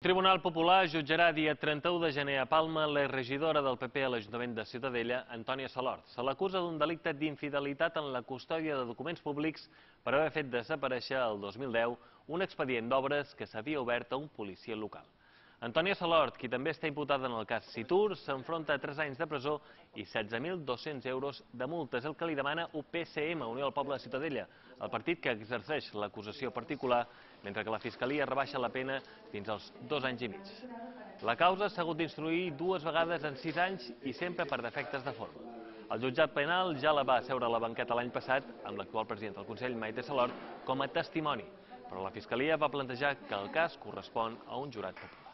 Tribunal Popular jutjarà dia 31 de gener a Palma l'exregidora del PP a l'Ajuntament de Ciutadella, Antònia Salort. Se l'acusa d'un delicte d'infidelitat en la custòdia de documents públics per haver fet desaparèixer el 2010 un expedient d'obres que s'havia obert a un policia local. Antònia Salort, qui també està imputada en el cas Citur, s'enfronta a 3 anys de presó i 16.200 euros de multa. És el que li demana UPCM, Unió del Poble de Ciutadella, el partit que exerceix l'acusació particular, mentre que la Fiscalia rebaixa la pena fins als 2 anys i mig. La causa s'ha hagut d'instruir 2 vegades en 6 anys i sempre per defectes de forma. El jutjat penal ja la va asseure a la banqueta l'any passat amb l'actual president del Consell, Maite Salort, com a testimoni, però la Fiscalia va plantejar que el cas correspon a un jurat popular.